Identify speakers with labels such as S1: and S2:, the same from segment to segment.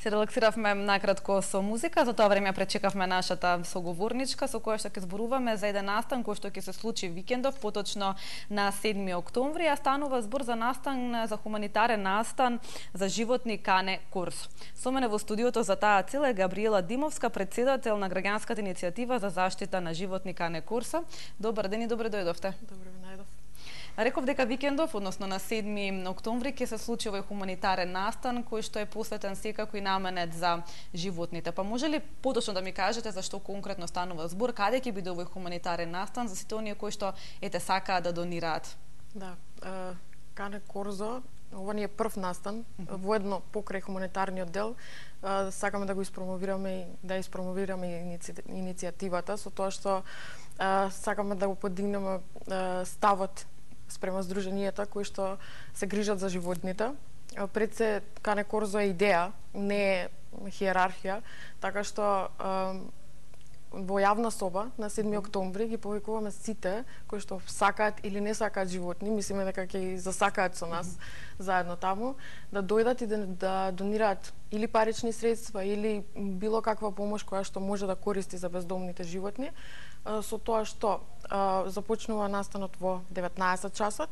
S1: Се релаксиравме накратко со музика, за тоа време пречекавме нашата соговорничка со која што ќе зборуваме за еден настан кој што ќе се случи викендов, поточно на 7 октомври, а станува збор за настан, за хуманитарен настан за животни Кане Корсо. Со мене во студиото за таа цел е Габриела Димовска, претседател на граѓанската иницијатива за заштита на животни Кане Корсо. Добар ден и добре дојдовте.
S2: Добре ве најдов.
S1: Реков дека викендов, односно на 7 октомври, ќе се случи овој хуманитарен настан кој што е посветен секако и наменет за животните. Па може ли поточно да ми кажете за што конкретно станува збор, каде ќе биде овој хуманитарен настан за сите оние кои што сакаат да донираат?
S2: Да, Кане Корсо, ова ни е прв настан, воедно покрај хуманитарниот дел. Сакаме да го испромовираме и да испромовираме иницијативата со тоа што сакаме да го подигнеме ставот спрема здруженијата кои што се грижат за животните. Пред се Кане Корсо е идеја, не е хиерархија, така што во јавна соба на 7 октомври ги повикуваме сите кои што сакаат или не сакаат животни, мислиме дека ќе ги засакаат со нас заедно таму, да дојдат и да донираат или парични средства или било каква помош која што може да користи за бездомните животни, со тоа што започнува настанот во 19 часот,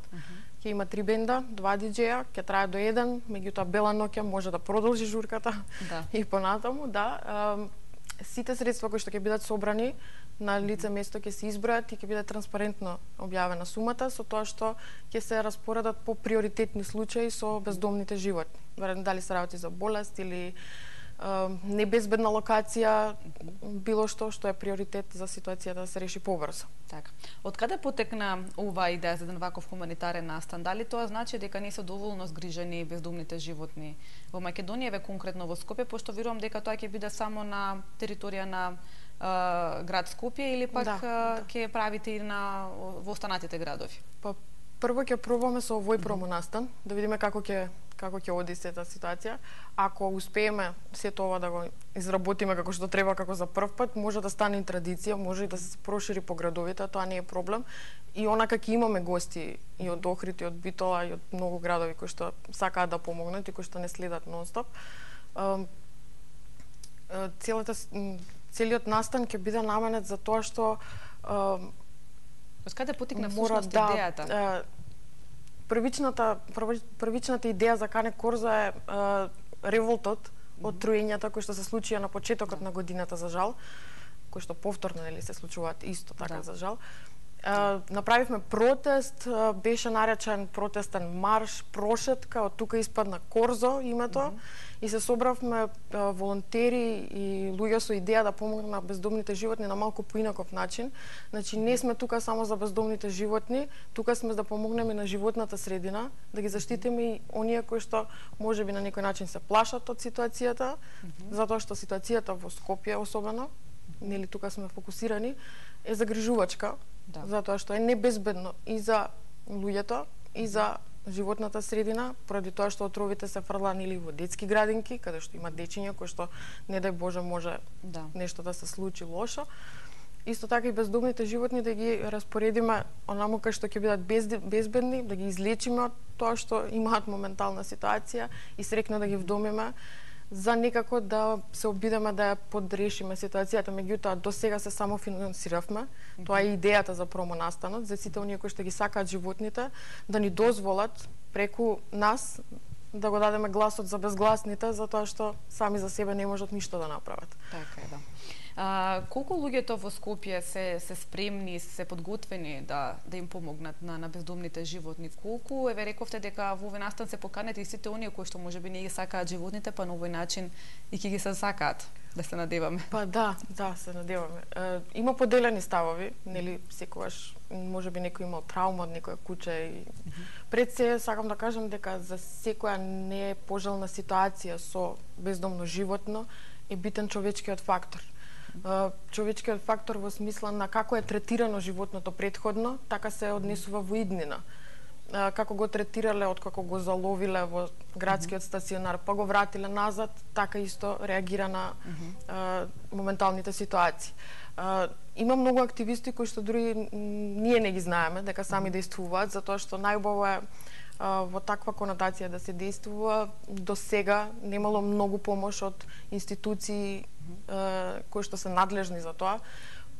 S2: ќе има 3 бенда, 2 диџеја, ќе трае до 1, меѓутоа бела ноќ може да продолжи журката и понатаму, сите средства кои што ќе бидат собрани на лице место ќе се избројат и ќе биде транспарентно објавена сумата, со тоа што ќе се распоредат по приоритетни случаи со бездомните животни. Дали се работи за болест или небезбедна локација, било што е приоритет за ситуацијата да се реши побрзо.
S1: Така. Од каде потекна оваа идеја за еден ваков хуманитарен настан? Дали тоа значи дека не се доволно згрижени бездомните животни во Македонија, ве конкретно во Скопје, пошто верувам дека тоа ќе биде само на територија на град Скопје или пак ќе правите и во останатите градови?
S2: Па прво ќе пробаме со овој промонастан, да видиме како ќе оди сета ситуација. Ако успееме сето ова да го изработиме како што треба, како за прв пат, може да стане и традиција, може и да се прошири по градовите, тоа не е проблем. И онака ќе имаме гости и од Охрид, и од Битола, и од многу градови кои што сакаат да помогнат и кои што не следат нон-стоп. Целиот настан ќе биде наменет за тоа што
S1: од каде потекна всушност идејата?
S2: Првичната идеја за Кане Корсо е револтот од труењата кои што се случија на почетокот на годината, за жал, кои што повторно се случуваат исто така, за жал. Направивме протест, беше наречен протестен марш, прошетка, од тука испадна Корсо името, и се собравме волонтери и луѓе со идеја да помогнат на бездомните животни на малку поинаков начин. Значи, не сме тука само за бездомните животни, тука сме да помогнеме на животната средина, да ги заштитиме и оние кои што можеби на некој начин се плашат од ситуацијата, затоа што ситуацијата во Скопје особено, нели тука сме фокусирани, е загрижувачка, затоа што е небезбедно и за луѓето, и за животната средина, поради тоа што отровите се фрлани или во детски градинки, каде што има дечиња кои што, не дај Боже, може нешто да се случи лошо. Исто така и бездомните животни да ги распоредиме онаму кај што ќе бидат безбедни, да ги излечиме од тоа што имаат моментална ситуација и срекно да ги вдомиме, за некако да се обидеме да ја подрешиме ситуацијата. Меѓутоа, до сега се само финансиравме. Тоа е идејата за промонастанот, за сите оние кои што ги сакаат животните, да ни дозволат преку нас да го дадеме гласот за безгласните, затоа што сами за себе не можат ништо да направат.
S1: Така е, да. Колку луѓето во Скопје се спремни, се подготвени да им помогнат на бездомните животни? Колку, рековте дека во овој настан се поканете и сите оние кои што можеби не ги сакаат животните, па на овој начин и ќе ги се сакаат, да се надеваме?
S2: Па да, се надеваме. Има поделени ставови, нели, секогаш можеби некој имал траума од некоја куќа и пред се сакам да кажам дека за секоја не е пожелна ситуација со бездомно животно е битен човечкиот фактор. Човечкиот фактор во смисла на како е третирано животното претходно, така се однесува во иднина. Како го третирале откако го заловиле во градскиот стационар, па го вратиле назад, така исто реагира на моменталните ситуации. Има многу активисти кои што дури ние не ги знаеме дека сами действуваат, затоа што најубаво е во таква конотација да се действува. До сега немало многу помош од институции кои што се надлежни за тоа.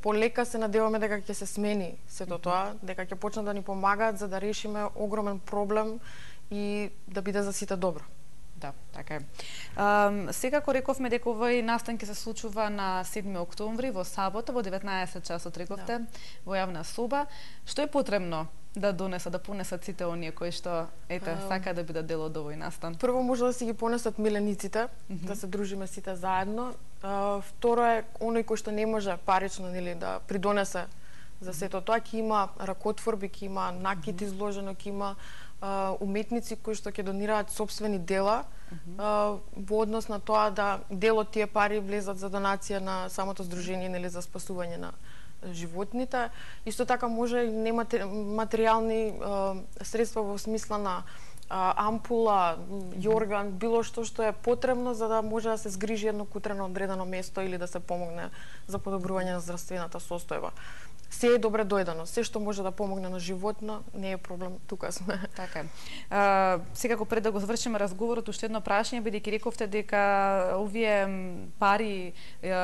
S2: Полека се надеваме дека ќе се смени сето тоа, дека ќе почнат да ни помагаат за да решиме огромен проблем и да биде за сите добро.
S1: Да, така е. Секако рековме дека овој настан ќе се случува на 7 октомври во сабота во 19 часот рековте во јавна соба. Што е потребно да понесат сите оние кои што сака да бидат дел од овој настан?
S2: Прво може да си ги понесат милениците, да се дружиме сите заедно. Второ е оној кој што не може парично да придонесе за сето тоа, ќе има ракотворби, ќе има накит изложено, ќе има уметници кои што ќе донираат сопствени дела во однос на тоа да дел од тие пари влезат за донација на самото здружение за спасување на животните. Исто така може и нематеријални средства во смисла на ампула, јорган, било што е потребно за да може да се згрижи едно кутрено одредено место или да се помогне за подобрување на здравствената состојба. Се е добре дојдено. Се што може да помогне на животно, не е проблем, тука сме.
S1: Така е. Секако пред да го завршиме разговорот, уште едно прашање, бидејќи рековте дека овие пари,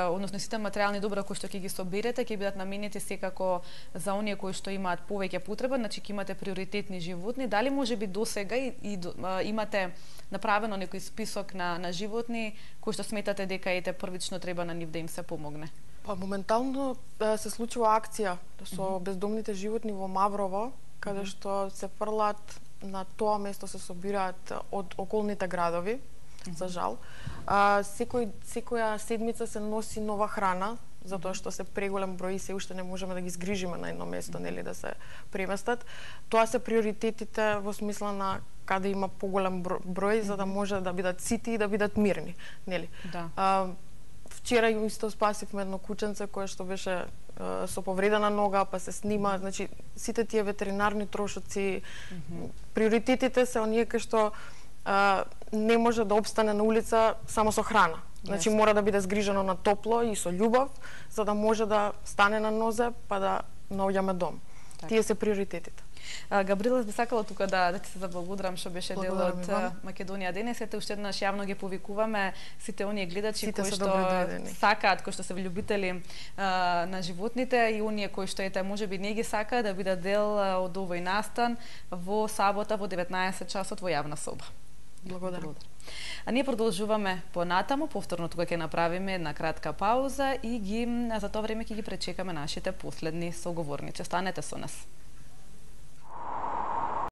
S1: односно сите материјални добра кои што ќе ги соберете, ќе бидат наменети секако за оние кои што имаат повеќе потреба, значи ќе имате приоритетни животни. Дали можеби досега имате направено некој список на животни кои што сметате дека првично треба на нив да им се помогне?
S2: Па моментално се случува акција со бездомните животни во Маврово, каде што се фрлат на тоа место, се собираат од околните градови, за жал. Секоја седмица се носи нова храна, затоа што се преголем број и се уште не можеме да ги згрижиме на едно место, да се преместат. Тоа се приоритетите во смисла на каде има поголем број, за да може да бидат сити и да бидат мирни, нели?
S1: Да.
S2: Вчера исто спасивме едно кученце кое што беше со повредена нога, па се снима, значи сите тие ветеринарни трошоци, приоритетите се оние кои што не може да опстане на улица само со храна. Значи мора да биде згрижено на топло и со љубов, за да може да стане на нозе, па да наоѓаме дом. Тие се приоритетите.
S1: Габриела, би сакала тука да ти се заблагодарам што беше дел од Македонија денес. Уште еднаш јавно ги повикуваме сите оние гледачи кои што сакаат, кои што се влюбители на животните и оние кои што можеби не ги сакаат да бидат дел од овој настан во сабота во 19 часот во јавна соба.
S2: Благодарам.
S1: А ние продолжуваме понатаму, повторно тука ќе направиме една кратка пауза и за тоа време ќе ги пречекаме нашите последни соговорници. Останете со нас.